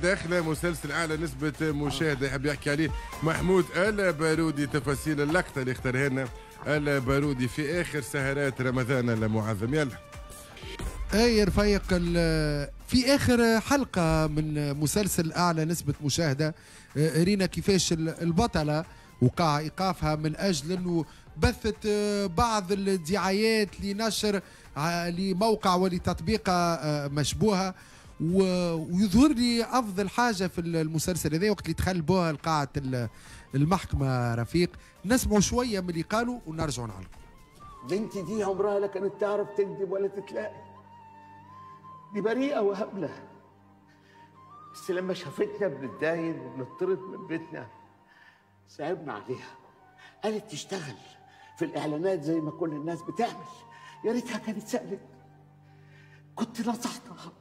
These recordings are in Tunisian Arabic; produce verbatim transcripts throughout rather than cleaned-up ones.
داخله مسلسل اعلى نسبه مشاهده، يحب يحكي عليه محمود البارودي. تفاصيل اللقطة اللي اختارها لنا البارودي في اخر سهرات رمضان المعظم. يلا اي رفيق، في اخر حلقة من مسلسل اعلى نسبه مشاهده رينا كيفاش البطلة وقع ايقافها من اجل انه بثت بعض الدعايات لنشر لموقع ولتطبيقه مشبوهة. ويظهر لي افضل حاجة في المسلسل هذا وقت اللي دخل بها لقاعه المحكمة. رفيق نسمعوا شوية من اللي قالوا ونرجعوا نعلقوا. بنتي دي عمرها لا كانت تعرف تكذب ولا تتلاقي، دي بريئة وهبله، بس لما شافتنا بنتداين وبنطرد من بيتنا صعبنا عليها، قالت تشتغل في الاعلانات زي ما كل الناس بتعمل. يا ريتها كانت سالت، كنت نصحتها،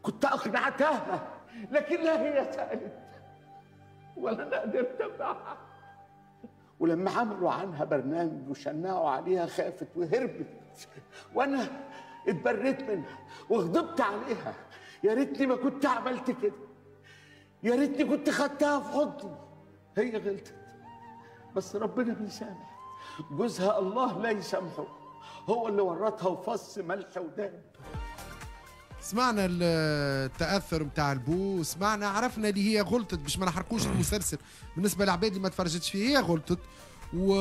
كنت اقنعتها، لكن لا هي سالت ولا انا قدرت امنعها. ولما عملوا عنها برنامج وشنعوا عليها خافت وهربت، وانا اتبريت منها وغضبت عليها. يا ريتني ما كنت عملت كده، يا ريتني كنت خدتها في حضني. هي غلطت بس ربنا بيسامح. جوزها الله لا يسامحه، هو اللي ورطها وفص ملح وداب. سمعنا التاثر نتاع البو، سمعنا عرفنا اللي هي غلطت باش ما نحرقوش المسلسل بالنسبة للعباد اللي ما تفرجتش فيه. هي غلطت و...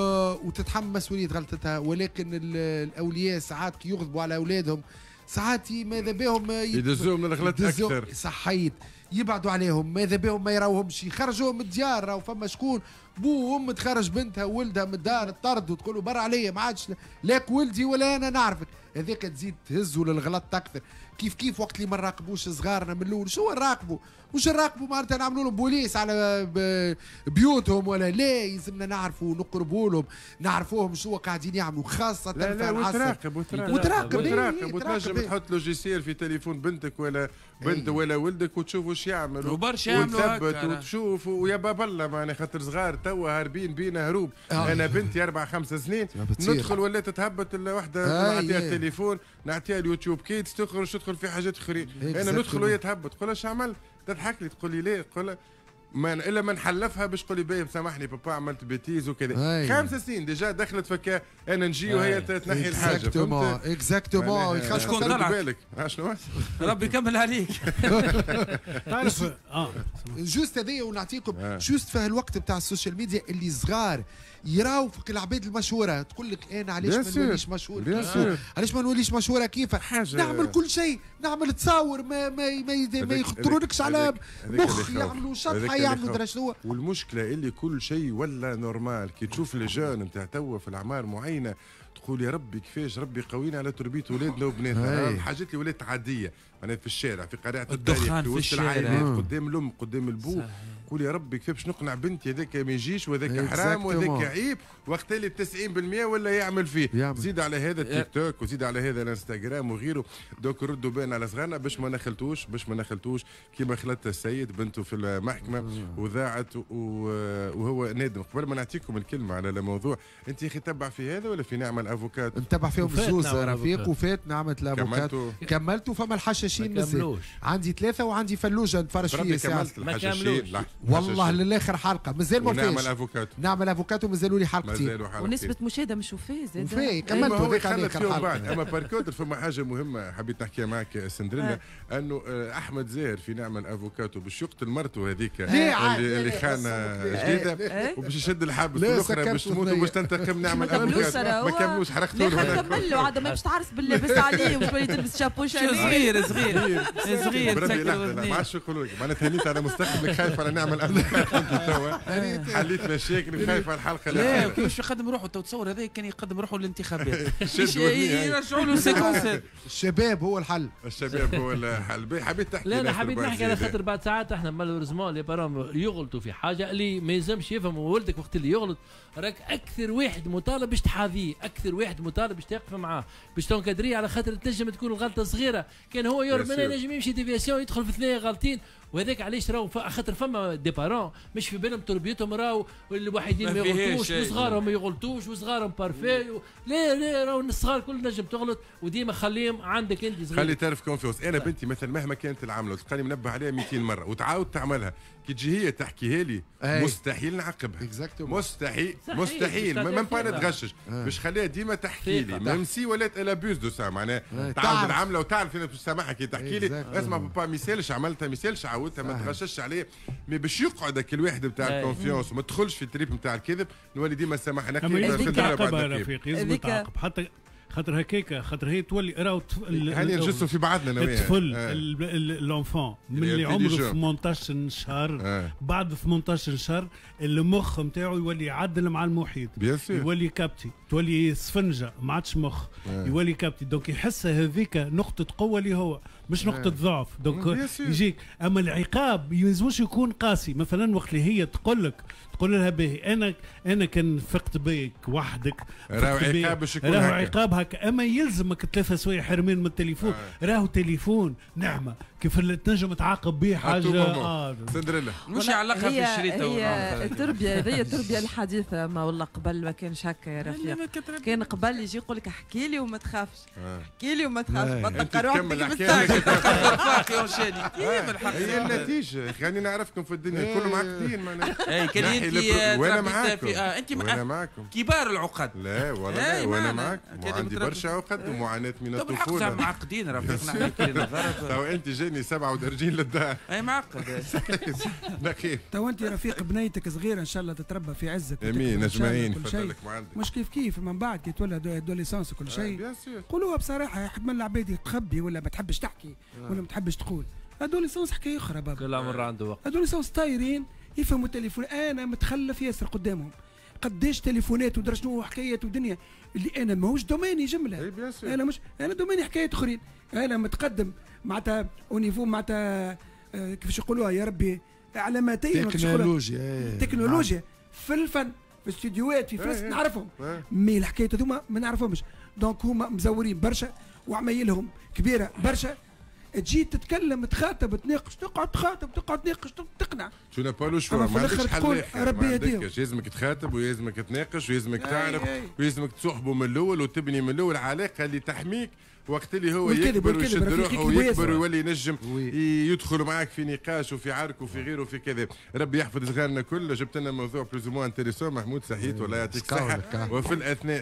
وتتحمل مسؤولية غلطتها، ولكن الاولياء ساعات كي يغضبوا على اولادهم ساعات ماذا بهم يدزوهم من الغلط اكثر. صحيت، يبعدوا عليهم، ماذا بهم ما يراوهمش، يخرجوهم من الديار. راهو فما شكون بو وام تخرج بنتها وولدها من الدار الطرد وتقول له برا عليا ما عادش لاك ولدي ولا انا نعرفك، هذاك تزيد تهزوا للغلط اكثر. كيف كيف وقت اللي ما نراقبوش صغارنا من الاول، شو نراقبوا؟ مش نراقبوا معناتها نعملوا لهم بوليس على بيوتهم ولا لا، يلزمنا نعرفوا ونقربوا لهم، نعرفوهم شو قاعدين يعملوا، خاصة لا لا في العصر. وتراقب وتراقب وتراقب وتراقب وتنجم تحط logiciel في تليفون بنتك ولا بنت ولا ولدك وتشوف واش يعمل وبرشا يعملوا وتثبت وتشوف ويا باب الله معناها، خاطر صغار توا هاربين بينا هروب. آه. انا بنتي اربع خمس سنين ندخل ولات تهبط وحده، نعطيها التليفون نعطيها اليوتيوب Kids تخرج تدخل في حاجات اخرين. انا ندخل وهي تهبط، تقول اش عملت؟ تضحك لي تقول لي ليه؟ تقول ما الا ما نحلفها باش تقول لي باهي سامحني بابا عملت bêtise وكذا. خمس سنين déjà دخلت فكا انا نجي وهي تنحي الحاجة. exactement exactement. شكون طلع بالك شنو ربي يكمل عليك. تعرف اه juste هذايا ونعطيكم juste في هالوقت بتاع السوشيال ميديا اللي صغار يراو في العباد المشهورة، تقول لك انا علاش ما نوليش مشهور؟ علاش ما نوليش مشهورة؟ كيف نعمل كل شيء، نعمل تصاور ما ما ما, ما يخطرولكش على مخ، يعملوا شطحة يعملوا درا شنو. والمشكلة اللي كل شيء ولا normal، كي تشوف les jeunes نتاع توا في الاعمار معينة تقول يا ربي كيفاش ربي قوينا على تربيه اولادنا وبناتنا. الحاجات اللي ولات عادية معناها في الشارع، في قارعة الدخان، في وسط العائلات، قدام الام قدام البو، قول يا ربي كيف باش نقنع بنتي هذاك ما يجيش وهذاك حرام وهذاك عيب، وقت اللي تسعين بالمية ولا يعمل فيه. يعمل. زيد على هذا التيك توك وزيد على هذا الانستغرام وغيره. donc ردوا بالنا على صغارنا باش ما نخلتوش، باش ما نخلتوش كيما خلت السيد بنته في المحكمة وذاعت وهو نادم. قبل ما نعطيكم الكلمة على الموضوع، انت يا اخي تبع في هذا ولا في نعمه الافوكات؟ نتبع فيهم الزوز رفيق، وفات نعمه الافوكات كملتوا. فما الحشاشين مازال عندي ثلاثة وعندي فلوجه نتفرج فيه. كملت الحشاشين والله للاخر حلقة مازال ما فيش. نعمل افوكاتو، نعمل افوكاتو مازالوا لي حلقتين ونسبه مشاهده مش وفاه زاد وفاه كملت هذاك على اخر حلقة. اما par contre فما حاجة مهمة حبيت نحكيها معك سندريلا، انه احمد زاهر في نعمل افوكاتو باش يقتل مرته هذيك اللي, اللي خانه جديدة وباش يشد الحبس، والاخرى باش تموت وباش تنتقم نعمل افوكاتو. ما كملوش، حرقتوا له. كملوا عاد ما باش تعرس باللبس عليه وباش تولي تلبس شابو صغير صغير صغير. ما عادش يقولوا لك معناتها هنيت على مستقبلك، خايف على نعمل افوكاتو توا حليت مشاكل وخايف على الحلقة. لا كيفاش يقدم روحه تو تصور هذا كان يقدم روحه للانتخابات يرجعوا له séquence. الشباب هو الحل، الشباب هو الحل. حبيت تحكي؟ لا انا حبيت نحكي على خاطر بعد ساعات احنا malheureusement les parents يغلطوا في حاجة اللي ما يلزمش يفهموا. ولدك وقت اللي يغلط راك اكثر واحد مطالب باش تحاذيه، اكثر واحد مطالب باش تقف معاه، باش تنكدريه، على خاطر تنجم تكون الغلطة صغيرة، كان هو يهرب منها ينجم يمشي déviation يدخل في ثنيه غالطين وهذاك علاش راهو خاطر فما des parents مش في بالهم تربيتهم، راهو الوحيدين ما يغلطوش وصغارهم ما يغلطوش وصغارهم parfaits و... لا لا، راهو الصغار كل نجم تغلط، وديما خليهم عندك انت صغير، خلي تعرف confiance. انا بنتي مثلا مهما كانت العملة تلقاني منبه عليها مئتين مرة وتعاود تعملها، كي تجي هي تحكيها لي مستحيل نعاقبها، مستحيل مستحيل même pas نتغشش، باش خليها ديما تحكي لي même si ولات elle abuse de ça، معناها تعاود العملة وتعرف انا باش تسامحها كي تحكي لي اسمع بابا ما يسالش عملتها، ما يسالش عاودتها، ما تغشش عليه، mais باش يقعد هاك الواحد نتاع ال confiance وما تدخلش في ال trip نتاع الكذب، نولي ديما سامحنا. لازم تعاقبها رفيق، لازم تعاقب حتى خاطر هكاك، خاطر هي تولي راهو هاني نجسوا في بعضنا الطفل l'enfant من اللي عمره ثمنطاش شهر آه. بعد ثمنطاش شهر المخ نتاعو يولي يعدل مع المحيط، يولي capter، تولي سفنجه ما عادش مخ آه. يولي capter، donc يحس هذيك نقطة قوة اللي هو مش نقطة آه. ضعف، donc يجيك. اما العقاب يلزموش يكون قاسي، مثلا وقت اللي هي تقول لك تقول لها باهي انا انا كان فقت بيك وحدك راهو عقاب باش يكون راهو عقاب هكا، اما يلزمك ثلاثة سوايع حرمان من التليفون آه. راهو تليفون نعمه كيف اللي تنجم تعاقب به حاجة اه سندريلا مش يعلقها في الشريطه. هي التربية هذه التربية الحديثة، ما والله قبل ما كانش هكا يا رفيق، كان قبل يجي يقول لك احكي لي وما تخافش، احكي لي وما تخافش، ما تلقى روحك هي النتيجة. خليني نعرفكم في الدنيا كلهم معقدين معناها. اي كان انت وانا معاكم، انت وانا معاكم كبار العقد. لا والله وانا معاكم، وعندي برشا عقد ومعاناة من الطفولة. معقدين رفيق، تو انت جاني سبعة ودرجين للدار. اي معقد. نقيب تو انت رفيق بنيتك صغيرة ان شاء الله تتربى في عزك. امين اجمعين. مش كيف كيف من بعد كي تولى adolescence وكل شيء قولوها بصراحة، حد من العباد تخبي ولا ما تحبش تحكي ولا ما تحبش تقول. adolescence حكاية اخرى بابا، كل عمر عنده وقت. adolescence طايرين يفهموا التليفون، انا متخلف ياسر قدامهم، قداش تليفونات ودرا شنو حكايات ودنيا اللي انا ماهوش domaine ي جملة، انا مش انا domaine ي حكايات اخرين، انا متقدم معناتها au niveau معناتها كيفاش يقولوها يا ربي علاماتين تكنولوجيا تكنولوجيا في الفن في الاستديوهات في فلوس نعرفهم، mais الحكايات هذوما ما نعرفهمش، donc هما مزورين برشا وعمايلهم كبيرة برشا. تجي تتكلم تخاطب تناقش، تقعد تخاطب تقعد تناقش تقنع. tu n'as pas le choix، ما عندكش حل اخر، ربي يهديهم. لازمك تخاطب ويلزمك تناقش ويلزمك تعرف ويلزمك تصاحبه من الاول وتبني من الاول علاقة اللي تحميك وقت اللي هو يكبر ويشد روحه ويكبر ويولي ينجم يدخل معاك في نقاش وفي عرك وفي غيره وفي كذا. ربي يحفظ صغارنا كل. جبت لنا موضوع plus ou moins intéressant محمود، صحيت والله يعطيك الصحة. وفي الاثناء